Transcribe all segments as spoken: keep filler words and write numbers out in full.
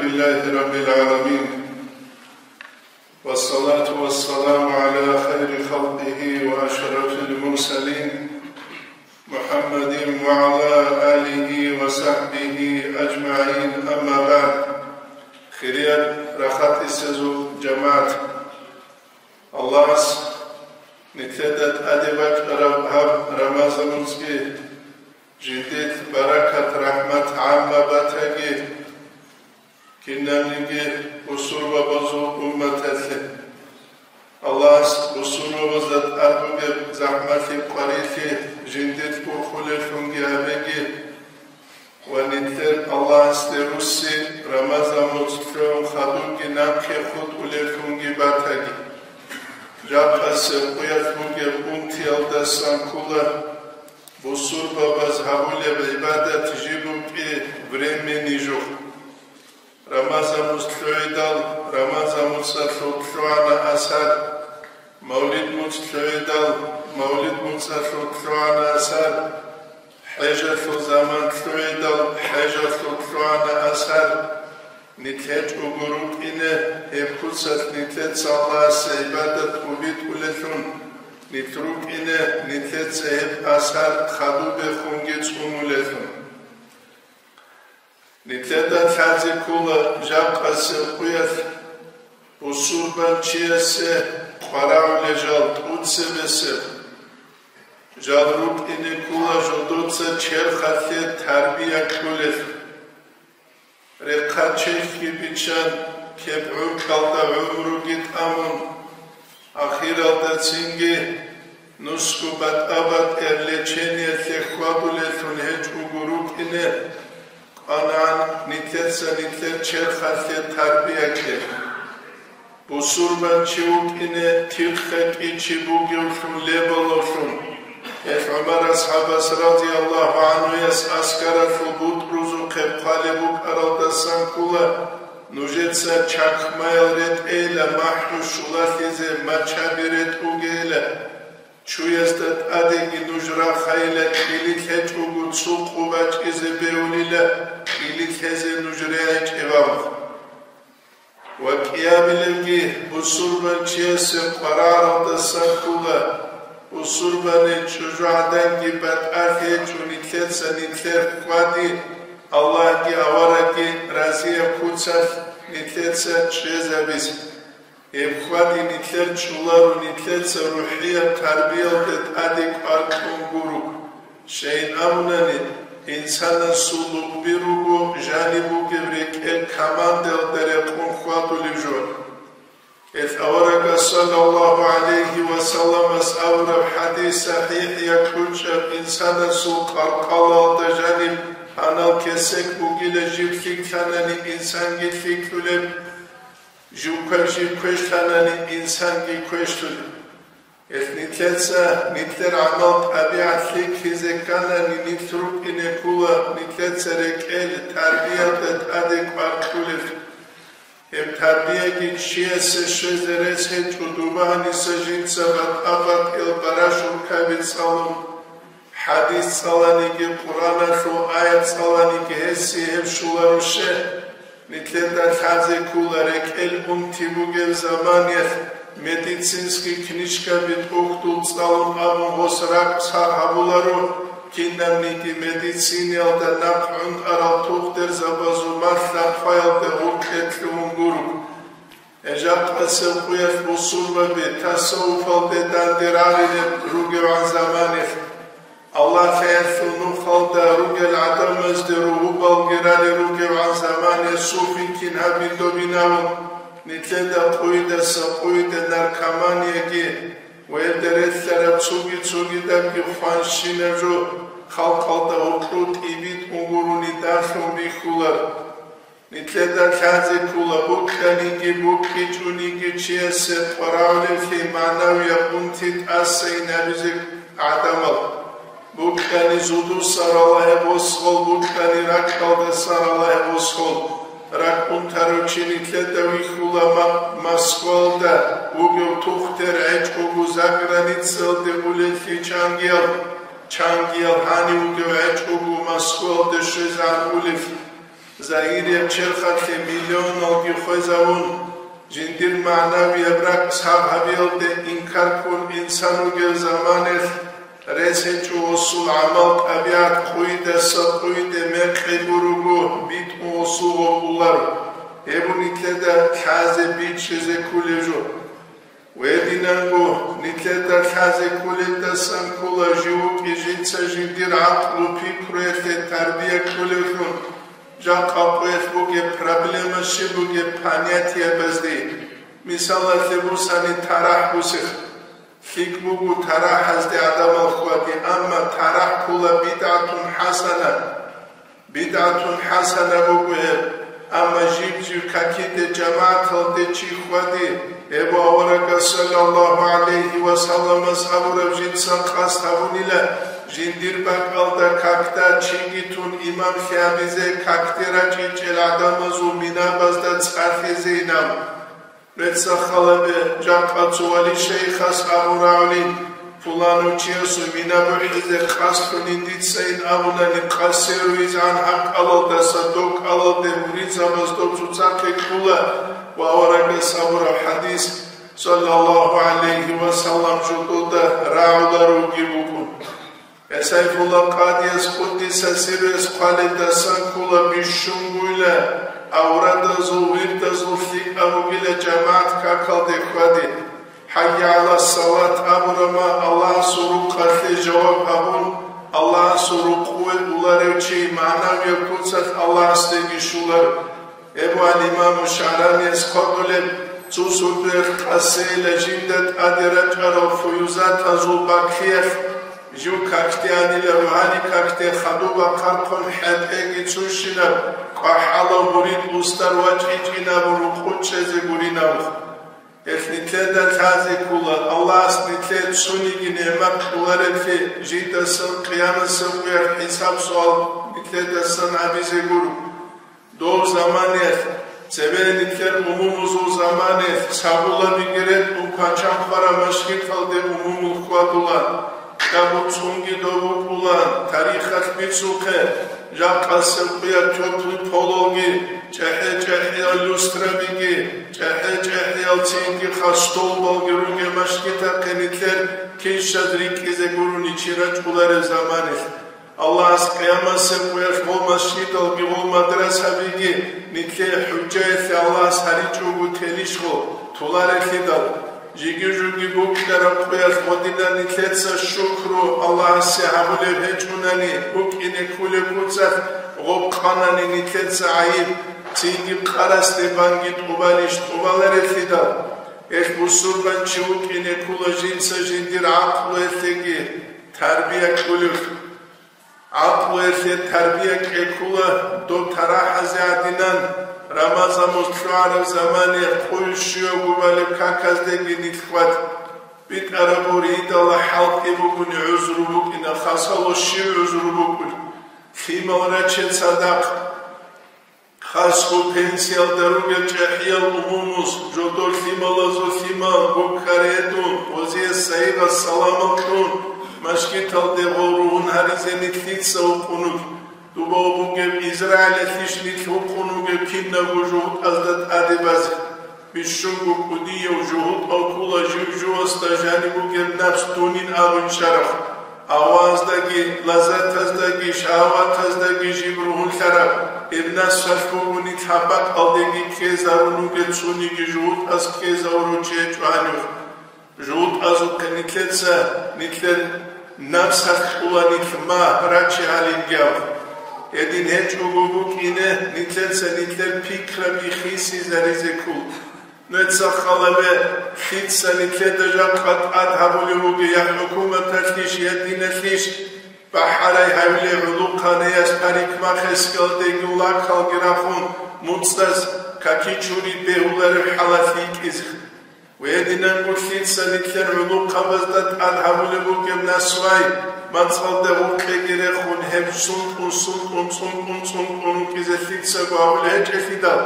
لله رب العالمين، والصلاة والسلام على خير خلقه وأشرف المرسلين، محمد وعلى آله وصحبه أجمعين، أما بعد. Хириял рахатисезул жамагӀат, Аллагьас нилъеда тӀаде бачӀараб гьаб Рамазан муцӀги жиндир баракат-рахӀмат гӀамма батаги, кинабниги бусурбабазул умматалъе. Аллагьас бусурбабазда тӀад бугеб захӀмалъи-къварилъи жиндир урхулеллъунги гьабеги, ва нилъер Аллагьасде русси Рамазан муцӀ лъугӀун хадубги нахъе хутӀулеллъунги батаги. Жакъасеб къуялъ бугеб унтиялдасан ккола бусурбабаз гьабулеб гӀибадат жиб букӀи времени жо. Рамазан муцӀ лъугӀидал Рамазан муцӀалъул лъугӀана асар, Мавлид муцӀ лъугӀидал Мавлид муцӀалъул лъугӀана асар, хӀежалъул заман лъугӀидал хӀежалъул лъугӀана асар. Нилъ гьечӀого рукӀине гьеб куцалъ нилъеца Аллагьасе гӀибадат тӀубитӀулеллъун, нилъ рукӀине нилъеца гьеб асар хадубехунги цӀунулеллъун. Нилъеда лъазе ккола жакъасеб къуялъ бусурбанчиясе къварагӀулел жал тӀуцебесеб. Жал рукӀине ккола жодоца черхалъе тарбия кьулел. Рехъа черхги биччан, кеб гӀуркьалда гӀумруги тӀамун, ахиралда цинги нусго батӀа-батӀиял лечениялъе хьвадулеллъун гьечӀого рукӀине, къванагӀан нилъеца нилъер черхалъе тарбия кье. Бусурбанчи вукӀине тихъе кӀичи бугевлъун лебалавлъун, гьелъ ГӀумар асхӀабас радияллагьу гӀанхуяс аскаралъул бутӀрузухъе хъвалеб букӀаралдасан ккола, нужеца чакмаял ретӀейила махӀу щулалъизе, мачаби ретӀугейила. Чуязда тӀадеги нуж рахайила, кӀили лъечӀого цо къо бачӀизе бегьулила, кӀили лъезе нуж регӀичӀеб. Ва кӀиабилебги бусурбанчиясе къварагӀаралдасан ккола, бусурбани чӀужугӀаданги батӀалъи гьечӀо нилъеца нилъер хьвади, Аллагьги аварагги разияб куцалъ нилъеца чӀезабизе. Гьеб хьвади нилъер чӀоларо нилъеца рухӀияб тарбиялде тӀаде кӀвар кьун гуро. Щайин абунани, инсанасул лугби руго жаниб бугеб рекӀел камандаялда рекъон хьвадулеб жо. Гьелъ аварагас саллаллагьу гӀалайгьи ва салламас абураб хӀадис сахӀихӀ, якьучӀаб инсанасул къаркъалалда жаниб гьанал кесек бугила, жиб лъикӀлъанани инсанги лъикӀлъулеб, жив кве-, жиб квешлъанани инсанги квешлъулеб. Гьелъ нилъеца нилъер гӀамал-тӀабигӀат лъикӀлъизе кканани, нилъ рукӀине ккола нилъеца рекӀел тарбиялда тӀаде кӀвар кьулел. Гьеб тарбияги чиясе щвезе рес гьечӀо, дуба гьаниса жинца батӀа-батӀиял барашуркаби цӀалун, хӀадис цӀаланиги, Къуръаналъул аят цӀаланиги гьесие гьеб щоларо щай? Нилъеда лъазе ккола рекӀел унти бугеб заманиялъ медицинский книжкаби тӀохьдул цӀалун абун гъос ракӀ сагъ гьабуларо, кинабниги медицинаялда нахъ гӀунтӀарал тухтурзабазул малъа хъваялда гъоркье лъугьун гуро. Гьеб жакъасеб къуялъ бусурбаби тасаввуфалде данде рагъулел ругевгӀан заманаялъ, Аллагьлъиялъул нухалда ругел гӀадамазде ругьубалги ралел ругевгӀан заманаялъ суфин кин гьабин добинавун, нилъеда къуйдаса къуйде наркоманияги ва гьелда релълъараб цоги-цогидабги хванщинаб жо халкъалда гьоркьоб тӀибитӀун гурони дарлъун бихьулар. Нилъеда лъазе ккола букьаниги букӀинчӀониги чиясе къварагӀулевлъи магӀнавияб унти тӀаса инабизе гӀадамал. Букьани зудуса ралагье босгъал, букьани ракьалдаса ралагье босгъал. РакӀ унтарав чи нилъеда вихьула ма-, Москвалда вугев тухтур гӀечӀого заграницалде улеллъи чангиял, чангиял гьанив вугев гӀечӀого Москвалде щвезегӀан улеллъи. Загьирияб черхалъе миллионалги хвезавун, жиндир магӀнавияб ракӀ сагъ гьабиялде инкар ккун инсан вугев заманалъ, рес гьечӀо гъосул гӀамал-тӀабигӀат къуйдаса къуйде мекъи гуруго битӀун гъосул гъоркьуларо, гьеб нилъеда лъазе бичӀчӀизе кколев жо. Гьединанго, нилъеда лъазе кколелдасан ккола жив вукӀи жинца жиндир гӀакълу-пикруялъе тарбия кьолевлъун, жакъа къоялъ бугеб проблема щиб бугеб понятиябазде. Мисалалъе бусани, тарахӀ бусех. ЛъикӀ буго тарахӀазде гӀадамал хьвади, амма тарахӀ ккола бидгӀатун хӀасана. БидгӀатун хӀасана буго гьеб, амма жиб-жиб какиде жамагӀаталде чи хьвади, гьеб аварагас саллаллагьу гӀалайгьи ва салламас абураб жинца къасд гьабунила, жиндир бакӀалда какда чиги тун имамлъи гьабизе какде рачӀичӀел гӀадамазул минабазда цӀалъизе инав. Рецц-халабе, жакъа цо вали шайихас абун рагӀулин, пуланав чиясул мина бухӀизе къасд лъунин дица ин абунани, къасе руйзгӀан гьаб кӀалалдаса доб кӀалалде муридзабаз доб цоцахъе кьула ва аварагас абураб хӀадис, саллаллагьу гӀалайгьи ва саллам, жодода рагӀуларуги букӀун. Сайфулла Къадияс, къуддиса сирругьу, хъвалелдасан ккола бищунгуйла, аврадазул, вирдазул лъикӀаб бугила жамагӀат какалде хьвади. «ХӀайя гӀала салат» абураб мехалъ Аллагьасул рукъалъе жаваб гьабун, Аллагьасул рукъуве уларев чи магӀнавияб куцалъ Аллагьасдеги щолар. Гьеб ва имаму ШагӀранияс хъвалеб, цо сурдоялъ къасейила жинда тӀаде рачӀарал фуюзатазул бакиялъ, жив какде гьанила, рогьани какде хадуб бахъархъун хӀетӀеги цущинаб, кӀвахӀалав мурид устар вачӀичӀинаб рукъу чӀезе гуринаб. Гьелъ нилъеда лъазе ккола, Аллагьас нилъее цониги нигӀмат кьолареблъи, жидасан къиямасеб къоялъ хӀисаб-суал нилъедасан гьабизе гуро. Дов заманаялъ, цебе нилъер умумузул заманаялъ, сабулабиги ретӀун квачан хвараб машгиталде умумул хьвадулан, кьабуцӀунги дов вукӀулан, тарихалъ бицухъе, жакъасеб къоялъ тёплый пололги, чӀехӀе-чӀехӀиял люстрабиги, чӀехӀе-чӀехӀиял цинги хас столбалги ругеб машгитахъе нилъер килщаз рикӀкӀизе гурони чи рачӀулареб заманаялъ. Аллагьас къиямасеб къоялъ гъол машгидалги гъол мадрасабиги нилъее хӀужаялъе Аллагьас гьаричӀого телищ гъол, толарелъидал. Жиги-жуги букӀараб къоялъ гъодинан нилъеца шукру Аллагьасе гьабулеб гьечӀунани, букӀине кколеб куцалъ гъоб къанани нилъеца гӀайиб, цинги къарасде банги тӀубалищ тӀубаларелъидал. Гьелъ бусурбан чи вукӀине ккола жинца жиндир гӀакълуялъеги тарбия кьулелъ. ГӀакълуялъе тарбия кьеккула доб тарахӀазе гӀадинан, Рамазан моз лъугӀараб замане къуй щуявго балеб каказдеги нилъ хьвад. БитӀараб буридала хӀалтӀи бугони гӀузру букӀина, хасало щив гӀузру букӀулеб? Лъимал раче цадахъ. Хасго пенсиялда ругел чӀехӀиял умумуз, жодор лъималазул лъимал, гуккаредун, гъозие сайигъас саламал кьун, машгиталде гъол ругьун гьаризе нилъ дица вукъунеб. Дубав бугеб Израилалъищ нилъ вукъун вугеб кинабго жугьутӀазда тӀаде базе. Бищунго кӀудияв жугьутӀав ккола жив-живасда жаниб бугеб напс дунин абун чӀарав. Аваздаги, лаззатаздаги, шагьаватаздаги жиб ругьунлъараб, гьеб напсалъ бугони лъабакъалдеги ккезарун вугев цониги жугьутӀаз ккезавурав чи гьечӀо гьанив. ЖугьутӀазухъе нилъеца нилъер напсалъ кьула нилъ магь рачи гьалингав. Гьедин гьечӀого букӀине нилъеца нилъер пикраби хисизаризе ккола. Нуца халабе, лъица нилъеда жакъа тӀад гьабулев вугев, я хӀукуматалъищ, я диналъищ, бахӀарай гьавилев гӀулухъанияс парикмахерскиялдеги лакалги рахун, муцӀаз какичури бегьуларев хӀалалъ йикӀизе. Гьединанго лъица нилъер гӀулухъабазда тӀад гьабулеб бугеб насвай, мацӀалда гъукъеги рехун, гьеб сунтӀун-сунтӀун, цӀунтӀун-цӀунтӀун вукӀизе лъицаго гьабулеб гьечӀелъидал,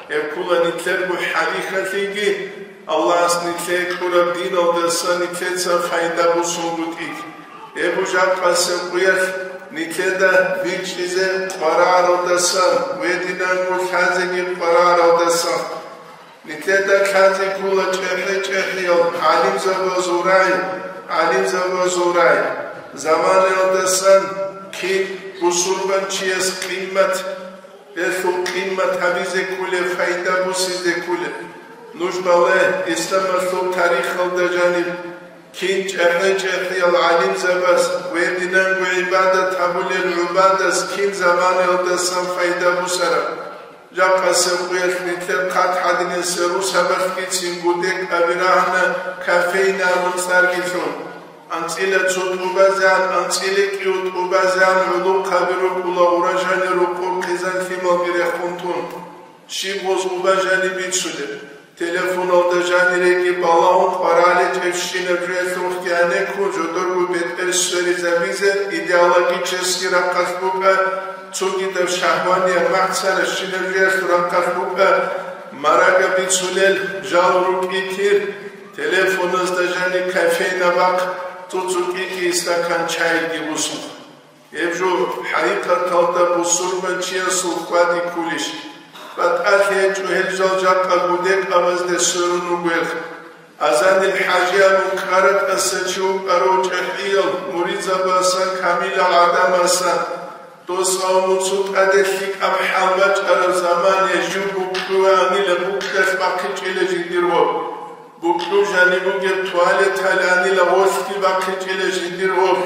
гьеб ккола нилъерго хӀалихьалъиги, Аллагьас нилъее кьураб диналдаса нилъеца пайда босунгутӀиги. Гьеб жакъасеб къоялъ Нилъеда бичӀчӀизе къварагӀаралдасан, гьединанго лъазеги къварагӀаралдасан. Нилъеда лъазе ккола чӀехӀе-чӀехӀиял гӀалимзабазул рагӀи, гӀалимзабазул рагӀи. Заманаялдасан кин бусурбанчияс къимат, гьелъул къимат гьабизе кколеб, пайда босизе кколеб. Нуж бале, исламалъул тарихалда жаниб, кин чӀехӀе-чӀехӀиял гӀалимзабаз, гьединанго гӀибадат гьабулел гӀубадаз кин заманаялдасан пайда бусараб. Жакъасеб къуялъ нилъер хъат гьадинасеб росабалъгицин гудекъаби рагьана кофейный абун цӀарги лъун. АнцӀила цо тӀубазегӀан, анцӀила кӀиго тӀубазегӀан гӀолохъаби рукӀула, гъура жанир рукъул хъизан-лъималги рехун тун. Щиб гъоз гъуба жаниб бицунеб? Телефоналда жаниреги балагьун къварагӀаличӀебщинаб жоялъухъги гьанеккун жодорго бетӀер сверизабизе идеологический рахъалъ букӀа, цогидаб шагьваниял махцаращинаб жоялъул рахъалъ букӀа, марага бицунел жал рукӀи кир, телефоназда жаниб кофейна бахъ, цо-цо кӀикӀи стакан чайги бусун. Гьеб жо хӀакъикъаталда бусурбанчиясул хьвади кколищ? БатӀалъи гьечӀо гьел жал жакъа гудекъабазде сверун ругел. Азанил хӀажи абун ккара тӀаса чи вукӀарав чӀехӀиял муридзабасан камилал гӀадамасан, дос авмуцу тӀаде лъикӀаб хӀал бачӀараб замане жив букӀуанила букӀалъ бахъичӀила жиндир гъоб. БукӀу жаниб бугеб туалеталанила гъолъги бахъичӀила жиндир гъоб,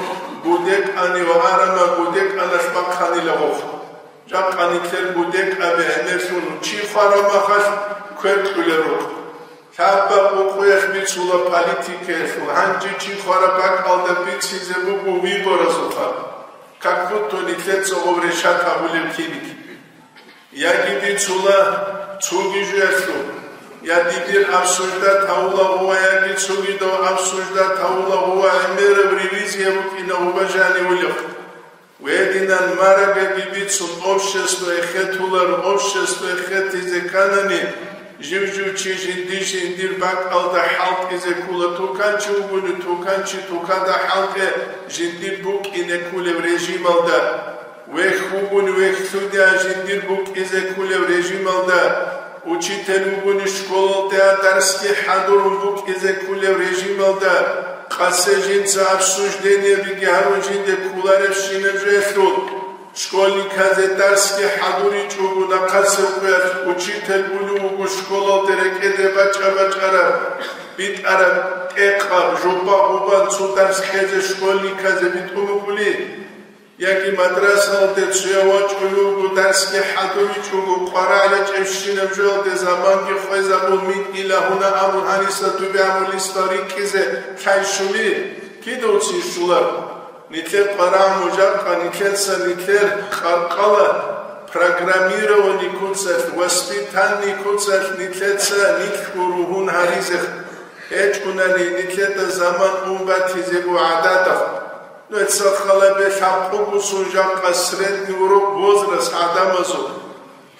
гудекъани ва арама гудекъаналъ бахъанила гъоб. Жакъа нилъер гудекъаби гӀемерлъун чи хвараб махалъ квер кьулел рукъ. Лъабаб къукъуялъ бицула политикаялъул, гьанже чи хвараб бакӀалда бицизе буго выборазул хаб. Как будто нилъеца гъоб решать гьабулеб киникиби. Яги бицула цоги жоялъул, я дибир обсуждать гьавула гъува, яги цогидав обсуждать гьавула гъува, гӀемераб ревизия букӀина гъуба жанивулев. Гьединан марагаги бицун, общество эхетулар, общество эхетизе кканани, жив-жив чи жинди-жиндир бакӀалда хӀалтӀизе ккула, туканчи вугони, туканчи тукада хӀалтӀе жиндир букӀине ккулев режималда. Вехь вугони вехьлъуде жиндир букӀизе ккулев режималда, учитель вугони школалде дарсги хӀадурун букӀизе ккулев режималда, къасе жинца обсуждениябиги гьарун жинде кколаребщинаб жоялъул, школьниказе дарсги хӀадуричӀого нахъасеб къоялъ учитель унев вуго школалде рекӀеде бачӀа-бачӀараб, битӀараб тӀекъаб, жопа-гъубан цо дарс кьезе школьниказе битӀун букӀули, яги мадрасалде цояв вачӀунев вуго, дарсги хӀадуричӀого, къварагӀаличӀебщинаб жоялде заманги хвезабун, микьила гьуна абун, гьаниса дуби абулисда рикӀкӀизе лъай щули, кидавцин щулар. Нилъер къварагӀму жакъа нилъеца нилъер къаркъала программирование куцалъ, воспитание куцалъ нилъеца нилъго ругьун гьаризе гьечӀунани, нилъеда заман ун батизего гӀададаб. Нугьеца халабе лъабкъугусун жакъа средний урок возраст гӀадамазул.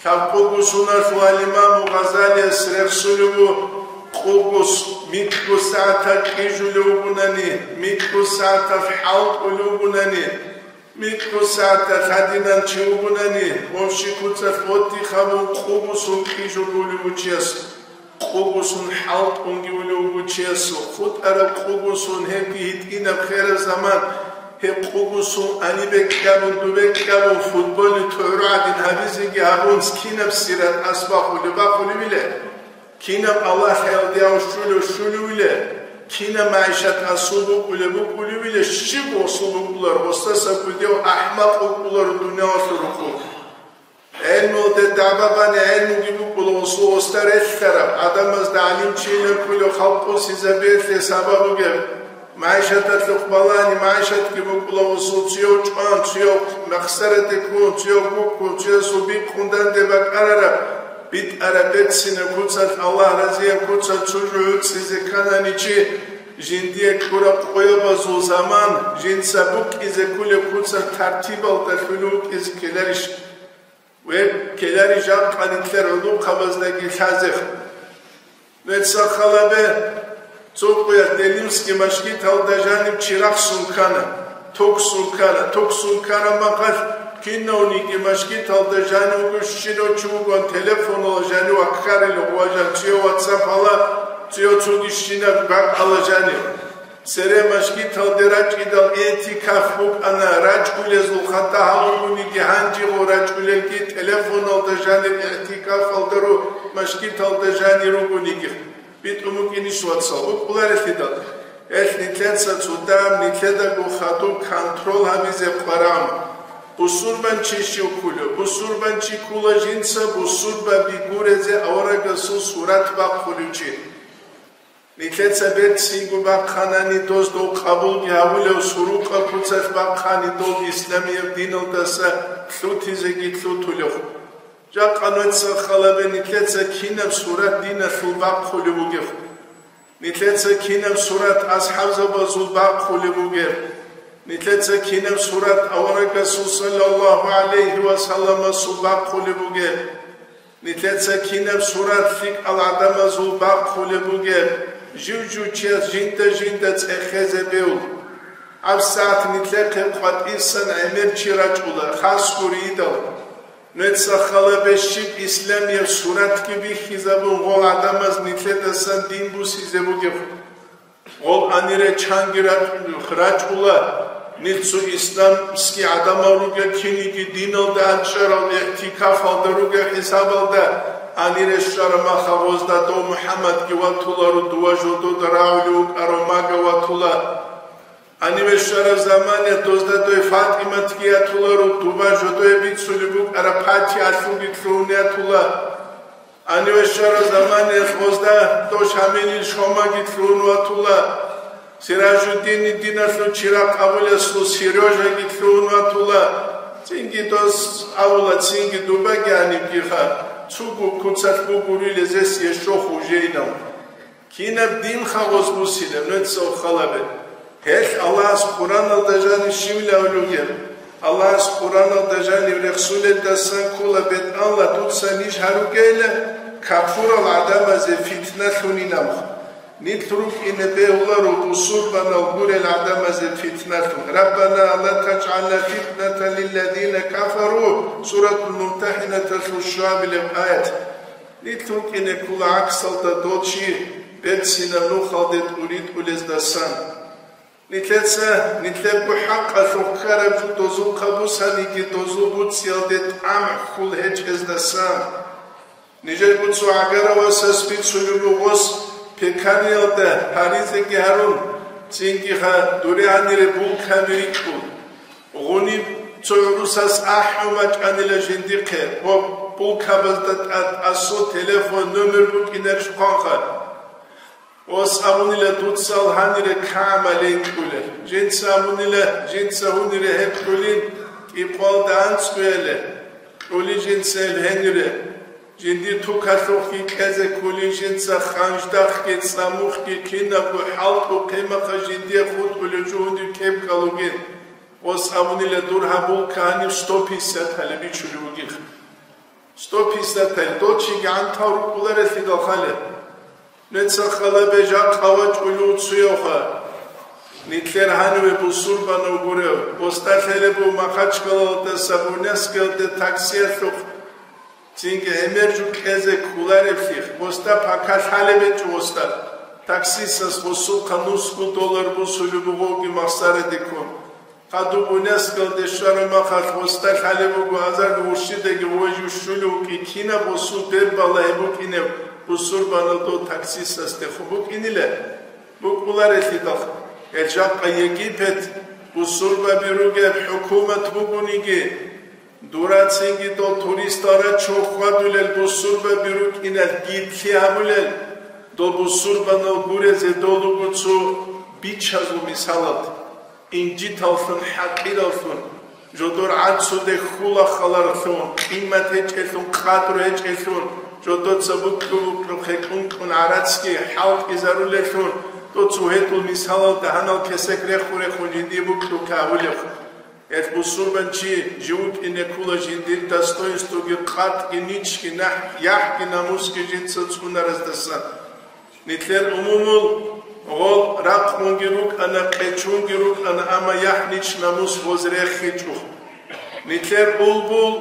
Лъабкъугусуналъул имаму Гъазалияс рехсулев ву къугус, микьго сагӀаталъ кьижулев вугунани, микьго сагӀаталъ хӀалтӀулев вугунани, микьго сагӀаталъ гьадинан чи вугунани, общий куцалъ отдых гьабун къугусун кьижулев вугев чияс. Къугусун хӀалтӀунги улев вуго чиясул, хутӀараб къугусун гьебги гьитӀинаб хераб заман, гьеб къугусун анибе кьабун, дубе кьабун, футболе тугӀру гӀадин гьабизеги гьабун, кинаб сират асбахулеб бахулевиле? Кинаб Аллагь хӀалдияв щулев щулевиле? Кинаб магӀишат асул букӀулеб букӀулевиле? Щиб асул букӀулар, гъосдаса гудев ахӀмакъ вукӀулар дуниялалъул рукъу. ГӀелмуялде дагӀба бани гӀелмуги букӀула, гъосул гъосда релълъараб, гӀадамазда гӀалимчи гьабулев, халкъ къосизабиялъе сабаб бугеб. МагӀишаталъухъ балани, магӀишатги букӀула, гъосул цуяв чӀван, цуяв махсараде ккун, цуяв гуккун, цуясул бикъун данде бакӀарараб, битӀараб берцинаб куцалъ, Аллагь разияб куцалъ цо жо гӀуцӀизе кканани чи, жиндие кьураб къоябазул заман, жинца букӀизе кколеб куцалъ тартибалда лъугьун вукӀизе ккеларищ? Ва ккелари жакъа нилъер гӀулухъабаздаги лъазех. Нугьеца халабе, цо къоялъ Делимский машгиталда жаниб чи рахсун ккана. Туксун ккана, туксун ккана махалъ, кинавниги машгиталда жанив вуго, щинав чи вугоан, телефонала жанив ваккарила, ва жан цӀиё ватсапала, цӀиё цуги щинаб бакӀала жанив. Цере машгиталде рачӀидал, этикаф букӀана, рачӀулезул хатӀа гьалугониги, гьанжего рачӀулелги, телефоналда жанир, этикафалда ру, машгиталда жанир ругониги. БитӀун букӀинищ, вацал, букӀуларелъидал? Гьелъ нилъеца цӀудаб, нилъедаго хадуб контрол гьабизе къваран. Бусурбанчи щив ккулев? Бусурбанчи ккула жинца бусурбаби гурезе аварагасул сурат бахъулев чи. Нилъеца берцинго бахъанани, доздул къабулги гьавулев, сурукъа куцалъ бахъани, дол исламияб диналдаса лъутизеги лъутулев. Жакъа нуца халабе нилъеца кинаб сурат диналъул бахъулеб бугеб? Нилъеца кинаб сурат асхӀабзабазул бахъулеб бугеб? Нилъеца кинаб сурат аварагасул саллаллагьу гӀалайгьи ва салламасул бахъулеб бугеб? Нилъеца кинаб сурат лъикӀал гӀадамазул бахъулеб бугеб? Жив-жив чияс жинда-жинда цӀехезе бегьул. ГьабсагӀат нилъехъе къватӀисан гӀемер чи рачӀула, хас гуридал. Нуца халабе щиб исламияб суратги бихьизабун, гъол гӀадамаз нилъедасан дин бусизе бугеб? Гъол анире чанги рачӀ-, рачӀула, нилъ цо исламский гӀадамал ругел, киниги диналда анцӀарал, игӀтикафалда ругел хӀисабалда, анире щвараб махалъ гъозда дов МухӀаммадги ватуларо, дова жодода рагӀулев вукӀарав Мага ватула. Гьаниве щвараб заманаялъ дозда дой ФатӀиматги ятуларо, дова жодое бицулеб букӀараб ПатигӀалъулги лъугьун ятула. Гьаниве щвараб заманаялъ гъозда дов Шамилил Шомаги лъугьун ватула. Сиражуддини диналъул чирагъ абулесул Серёжаги лъугьун ватула. Цинги дос абула, цинги дубаги гьанибгиха, цугу куцалъ бугурила зес ещохъ уже инав. Кинаб дин хавоз бусилеб нуцал халабе? Гьелъ Аллагьас Къураналда жанив щивлавлугеб? Аллагьас Къураналда жанив рехсулелдасан ккула бетӀалла дуца ниж гьаругейилан капурал гӀадамазе фитналъунин абун. Нилъ рукӀине бегьуларо бусурбанал гурел гӀадамазе фитналъун. «Раббана, ла тажгӀална фитнатан лилладина кафару», Суратул Мумтахинаталъул щуабилеб аят. Нилъ рукӀине ккула гӀаксалда дол чи берцинаб нухалде тӀуритӀулездасан. Нилъеца, нилъерго хӀакъалъулъ ккараб жо дозул хъабусаниги дозул буцӀиялде тӀамхӀ хьул гьечӀездасан. Нижерго цо гӀагаравасас бицулеб буго, гъос пекариялда гьаризеги гьарун, цинги ха дуре гьанире булкаби рикӀкӀун. Гъуниб цо гӀурусас ахӀун бачӀанила жиндихъе ва булкабазда тӀад асул телефон номер букӀинарищ хъванха. Ос абунила дуцал гьанире камалин кьулел. Жинца абунила, жинца гьунире гьеб кьулин кӀикъвалда анцӀгояле. Кьули жинца гьел гьенире. Жиндир тукалъухъги кьезе ккулин жинца ханждахъги, цӀамухъги, кинабго хӀалтӀу-хъимахъа жиндие хутӀулев жугьунив кепкал вугин. Ос абунила дур гьабул кагьанив сто пятьдесят гьале бичулев вугин. Сто пятьдесят гьале, дол чиги гӀантал рукӀуларелъидал хале. Нецал халабе жакъа вачӀулев цуявха. Нилъер гьаниве бусурбанав гурев, оста лъелеб буго Махачкалалдаса Буйнакскиялде таксиялъухъ. Цинги гӀемер жо кьезе кколареблъи, гъосда пака лъалеб гьечӀо гъосда. Таксистас гъосухъа нусго доллар бусулеб бугоги махсараде ккун. Хадуб Буйнакскиялде щвараб махалъ гъосда лъалеб буго азарго уршидаги гъой жо щулев вукӀин, кинаб гъосул бер балагьи букӀинеб бусурбанав дов таксистасдехун букӀинила? БукӀуларелъидал, гьел жакъа Египет бусурбаби ругеб хӀукумат бугониги, Дурацинги дол туристал рачун хьвадулел бусурбаби рукӀинал гитлъи гьабулел, дол бусурбанал гурезе дол руго цо бичазул мисалалда, инжиталлъун, хӀакъираллъун, жодор гӀацуде хьула халарлъун, къимат гьечӀелъун, къадру гьечӀелъун, жодоца букьу-букьу хӀекьун-кьун гӀарацги хӀалтӀизарулелъун, дол цо гьедул мисалалда гьанал кесек рехун-рехун жиндие букьу кагьулев. Гьелъ бусурбанчи жив вукӀине ккула жиндир достоинствоги къатӀги ничги нахӀ-, яхӀги намусги жинца цӀунараздасан. Нилъер умумул Гъол ракълунги рукӀана, къечунги рукӀана, амма яхӀнич-намус гъоз рехичӀо. Нилъер булбул,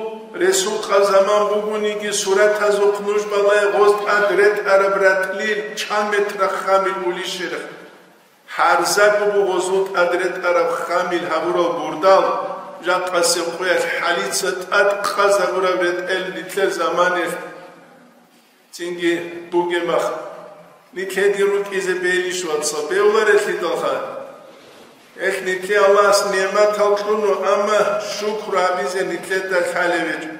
ресукъа заман бугониги, суратазухъ нуж балай гъоз тӀад ретӀараб ратӀлил чан метр ххамил улищерха. Гьарзаго буго гъозул тӀад ретӀараб ххамил гьабурал бурдал, жакъасеб къоялъ хӀалица тӀад къазабураб ретӀел нилъер заманалъ цинги бугеб мах. Нилъеде рукӀизе бейилищ, вацал, бевларелъидалха. Гьелъ нилъе Аллагьас нигӀматал кьуна, амма шукру гьабизе нилъеда лъалеб гьечӀо.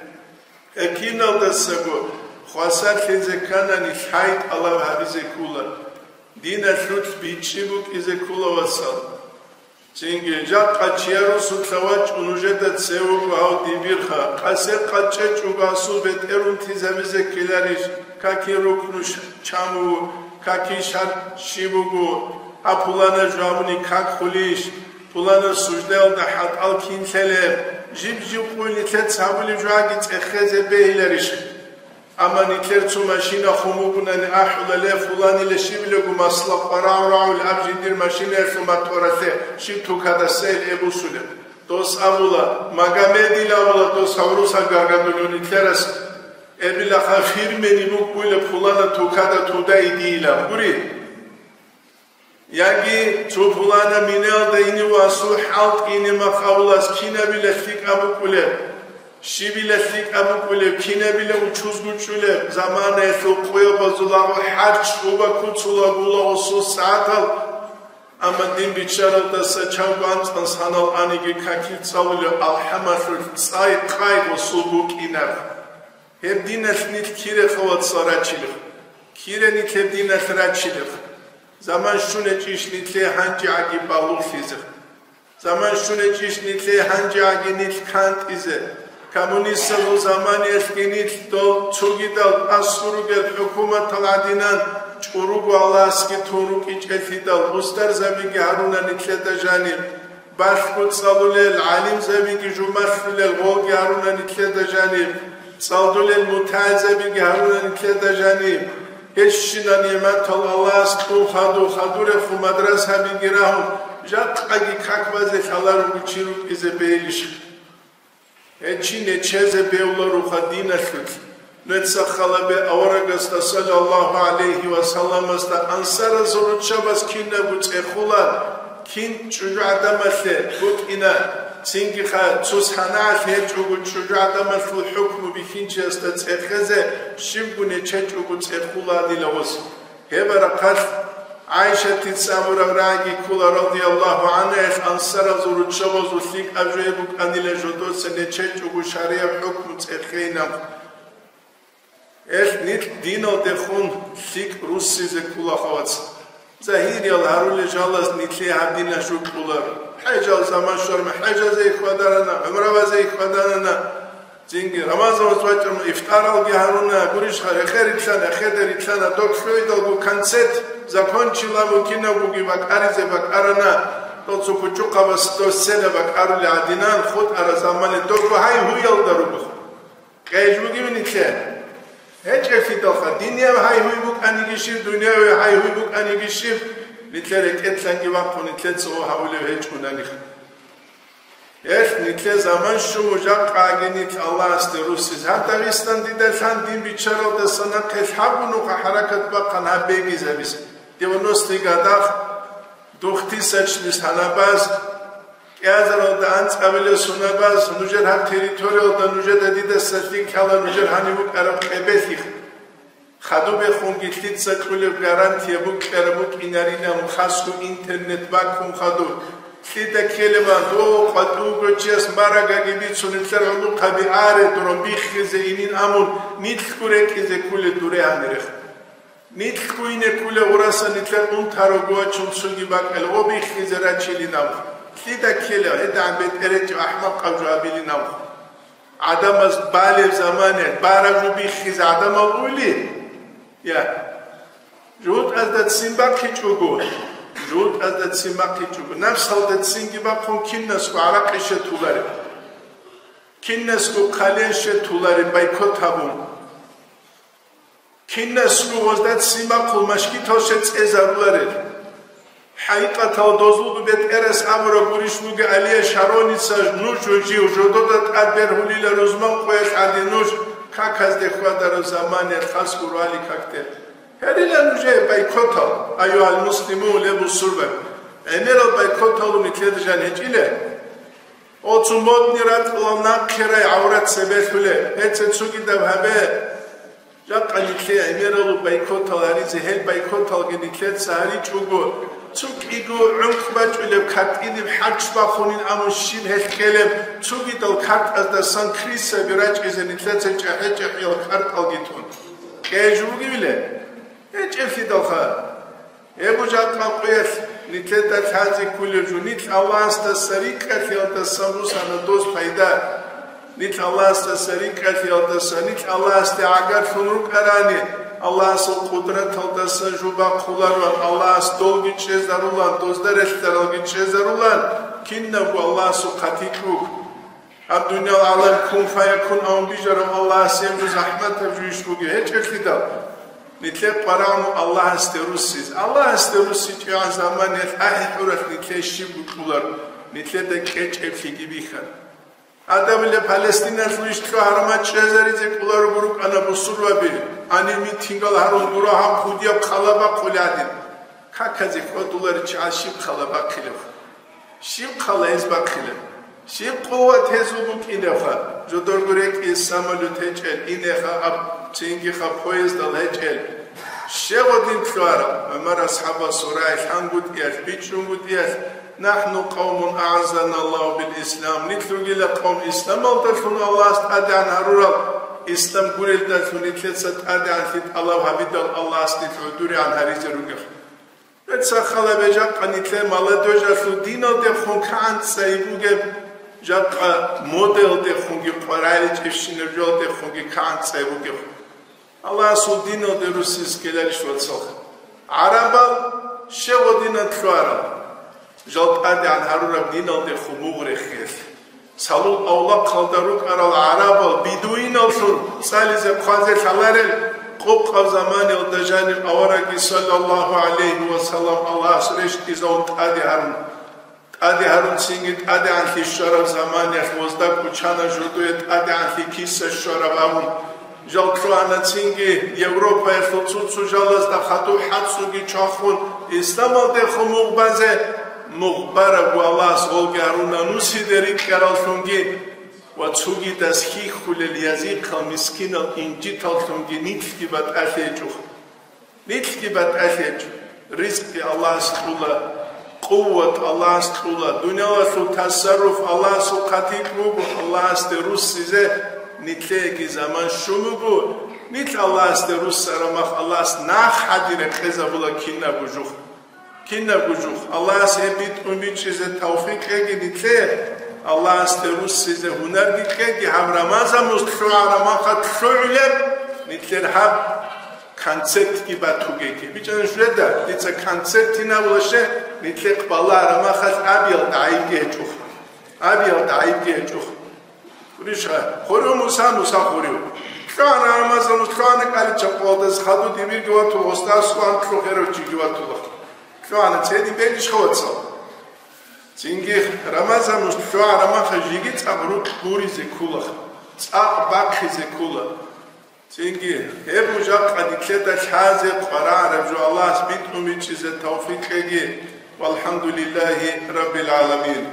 Гьеб киналдасаго хвасарлъизе кканани, лъай тӀалаб гьабизе ккола. Диналъулъ бичӀчӀи букӀизе ккола, вацал. Цинги жакъа чияр русулъа вачӀун нужеда цевего гьав дибирха, къасе къачӀечӀого асул бетӀер унтизабизе ккеларищ, каки рукну ш-, чан вуго, каки шарт щиб буго, гьаб пулана жавабуни как хулищ, пулана суждаялда хӀатӀал кин лъелеб, жиб-жиб къуй нилъеца гьабулеб жугьаги цӀехезе бегьиларищ? Амма нилъер цо машина хун бугунани ахӀула, ле, фуланила щибилаго масла къварагӀурагӀул аб жиндир машинаялъул моторалъе щиб тукадасайил эбусулеб. Дос абула, Магомедил абула, дос гьавруса гаргадулев нилъерас эбилаха фирмени букӀуйла пулана тукада туда идийилан. Гури? Яги цо пулана минаялда ине ва асул хӀалтӀине махъ абулас кинабила лъикӀаб букӀулеб, щибила лъикӀаб букӀулеб, кинабила учуз гучӀулеб, заманаялъул къоябазулаго хӀарч уба куцулагулаго сус сагӀатал, амма дин биччаралдаса чанго анцӀан санал аниги какил цӀалулеб алхӀамалъулъ цӀай-къай гъосул букӀинаб. Гьеб диналъ нилъ кире хавацал рачилев? Кире нилъ гьеб диналъ рачилев? Заман щунечӀищ нилъее гьанжегӀаги балугълъизе? Заман щунечӀищ нилъее гьанжегӀаги нилъ кантӀизе? Коммунистазул заманиялъги нилъ дол цогидал аскӀор ругел хӀукуматал гӀадинан чӀуруго Аллагьасги тун рукӀичӀелъидал, устарзабиги гьаруна нилъеда жаниб. Балъго цӀалулел, гӀалимзабиги жумалъулел гъолги гьаруна нилъеда жаниб, цӀалдулел мутагӀилзабиги гьаруна нилъеда жаниб. Гьещинаб нигӀматал Аллагьас кьун хадур, хадурехун мадрасабиги рагьун, жакъаги как базе лъаларого чи рукӀизе бегьилищ? Гьеб чи нечезе бевларуха диналъулъ. Нуца халабе аварагасда саллаллагьу гӀалайгьи ва салламасда ансаразул руччабаз кинабго цӀехула, кин чӀужугӀадамалъе букӀина, цинги ха цо санагӀалъ гьечӀого чӀужугӀадамалъул хӀукму бихьинчиясда цӀехезе щибго нечечӀого цӀехула дила гъос. Гьеб рахъалъ ГӀайшатица абураб рагӀиги ккола, радияллагьу гӀангьа, гьелъ ансаразул руччабазул лъикӀаб жо гьеб букӀанила жодоца нечечӀого шаригӀаб хӀукму цӀехейилан. Гьелъ нилъ диналдехун лъикӀ руссизе ккола, хавац. Загьириял гьарулел жалаз нилъее гьаб дина жо кьоларо. ХӀежал заман щварма хӀежазе хьвадарана, гӀумравазе хьвадарана. Цинги Рамазан вацӀцӀвачӀун ифтаралги гьаруна, гурищха, рекъе рилълъана, хеде рилълъана, доб лъугӀидалго концерт закончила, мун кинабгоги бакӀаризе бакӀарана, дол цо кучӀухъабас дов сцена бакӀарули гӀадинан, хутӀара замане дого гьай-гьуялда руго. Къей жугев нилъе? ГьечӀелъидалха, динияв гьай-гьуй букӀаниги щиб, дунияви гьай-гьуй букӀаниги щиб, нилъер рекӀелъанги вахъун нилъеца гьабулев гьечӀунанихъ. Гьелъ нилъер заман щун жакъаги нилъ Аллагьасде руссиз. Гьаб Дагъистан дида лъан дин биччаралдаса нахъе лъабгун нуха хӀаракат бахъан гьаб бегизабиз. Девяностый годах, двухтысячный санабаз, кӀиазаралда анцӀабилеб сонабаз, нужер гьаб территориялда нужеда дидаса лъикӀ лъала нужер гьанив букӀараб къебелъихъ. Хадубехунги лъица кьулеб гарантия букӀараб букӀинарилан хасго интернет баккун хадур. Лъида ккелебан, дов къватӀуго чияс марагаги бицун, нилъер гӀолохъаби аре, дураб биххизе инин амун, нилъго рекӀизе ккулел дуре гьанирех. Нилъго ине ккулел гъураса нилъер унтарого вачун цоги бакӀал, гъо биххизе рачилин амх. Лъида ккелеб, гьедагӀан бетӀеречӀеб ахӀмакъаб жо абилин амх. ГӀадамаз балеб замане, бараб жо биххизе гӀадамал уйли? Я. ЖугьутӀазда ццин бахъичӀого, жугьутӀазда ццин бахъичӀого, напсалда ццинги бахъун кинасго гӀаракъи щетулареб. Кинасго хъален щетулареб, бойкот гьабун. Кинасго гъозда ццин бахъун машгитал щецӀезаруларел. ХӀакъикъатал дозулго бетӀерас абураб гурищ буго, Алия Шароница, нуж жив жодода тӀад бергьулила рузман къоялъ гӀадин, нуж каказде хьвадараб заманиялъ хас гурони какде. Гьарила нужее бойкотал, айюгьал муслимун, ле бусурбаби. ГӀемерал бойкотал нилъеда жан гьечӀила. Оцу модни ракьалал нахъе рай гӀаврат цебе лъулеб. Гьеца цогидаб гьабе. Жакъа нилъее гӀемералъул бойкотал гьаризе, гьел бойкоталги нилъеца гьаричӀого, цо кӀиго гӀункъ бачӀулеб картӀиниб хӀарч бахунин абун щиб гьелъ ккелеб, цогидал картӀаздасан крысаби рачӀизе нилъеца чӀахӀи-чӀахӀиял картӀалги тун. Кье жо бугевиле? ГьечӀеблъидалха. Гьеб жакъа къоялъ нилъеда лъазе кколеб жо, нилъ Аллагьасдаса рикӀкӀалъиялдасан бусана дос пайда. Нилъ Аллагьасдаса рикӀкӀалъиялдаса, нилъ Аллагьасде гӀагарлъун рукӀарани, Аллагьасул къудраталдаса жо бахъулароан, Аллагьас долги чӀезарулан, дозда релълъаралги чӀезарулан, кинабго Аллагьасул хъатикь буго. Гьаб дуниял гӀалам кун фаякун абун бижарав Аллагьас гьеб жо захӀматаб жо иш бугеб гьечӀеблъидал, нилъер къварагӀму Аллагьасде руссиз. Аллагьасде руссичӀебгӀан заманиялъ ахӀи-хӀуралъ нилъее щиб букӀулар, нилъеда кьечӀеблъиги бихьан. Гьадабилеб Палестиналъул иш лъугӀараб мачӀ чӀезаризе кӀоларого рукӀана бусурбаби, гьанир митингал гьарун гуро гьаб кӀудияб хъала бахъулеб гӀадин. Каказе хьвадуларичӀел щиб хъала бахъилебха? Щиб хъала гьез бахъилеб? Щиб къуват гьезул букӀинебха? Жодорго рекӀее самолет гьечӀел, инеха аб, цингиха поездал гьечӀел. Щегъо дин лъугӀарал, ГӀумар асхӀабасул рагӀи лъангутӀиялъ, бичӀчӀунгутӀиялъ, «НахӀну къавмун агӀаззаналлагьу бил ислам», нилъ ругила къавм исламалдалъун Аллагьас тӀадегӀан гьарурал, ислам гурелдалъун нилъеца тӀадегӀанлъи тӀалаб гьабидал Аллагьас нилъ гӀодорегӀан гьаризе ругел. Гьеб сахалабе жакъа нилъер молодёжалъул диналдехун кагӀан цӀай бугеб, жакъа модаялдехунги къваригӀинчӀебщинаб жоялдехунги кагӀан цӀай бугеб. Аллагьасул диналде руссиз ккеларищ, вацал? ГӀарабал щегъо динан лъугӀарал, жал тӀадегӀан гьарураб диналдехун мугъ рехиялъ. Цалул авлахъалда рукӀарал гӀарабал бедуиналлъун цӀализе хъвазе лъаларел къокъаб заманиялда жаниб аварагги, саллаллагьу гӀалайгьи ва саллам, Аллагьас рещтӀизавун тӀаде гьарун. ТӀаде гьарун цинги тӀадегӀанлъи щвараб заманиялъ возда кӀучана жодое тӀадегӀанлъи киса щвараб абун. Жал лъугьана цинги Европаялъул цо-цо жалазда хадуб хӀацӀцӀуги чвахун, исламалдехун мугъ базе, мугъ бараб ва Аллагьас гъолги гьаруна нусиде рикӀкӀараллъунги ва цогидас хьихьулел язихъал мискинал инжиталлъунги нилъги батӀалъи гьечӀо. Нилъги батӀалъи гьечӀо. Ризкъги Аллагьас кьула, къуват Аллагьас кьула, дуниялалъул тасарруф Аллагьасул хъатикь буго, Аллагьасде руссизе нилъееги заман щун буго, нилъ Аллагьасде руссараб мах Аллагьас нахъ гьадин рекъезабула кинабго жух. Кинабго жух. Аллагьас гьеб битӀун бичӀчӀизе тавфикъ кьеги нилъее, Аллагьасде руссизе гьунарги кьеги, гьаб Рамазан мус лъугӀараб махалъ лъугӀулеб нилъер гьаб концертги батугеги. БичӀана шуреда, дица концерт гьинабула ще, нилъехъ балагьараб махалъ абиялда гӀайибги гьечӀоха. Абиялда гӀайибги гьечӀоха. Гурищха, хурив Муса, Муса хурив. ЛъугӀана Рамазан мус, лъугӀана кӀаличаб къоялдаса, хадуб дибирги ватула, гъосда аскӀован лъухӀарав чиги ватула. ЛъугӀана цедин бегьищха, вацал? Цинги Рамазан мус лъугӀараб махалъ жеги цӀакъ рукь гуризе ккола, цӀакъ бахъизе ккола. Цинги гьеб жакъа нилъеда лъазе къваригӀараб жо Аллагьас битӀун бичӀчӀизе тавфикъ кьеги. ВалхӀамдулиллагьи раббил гӀаламин.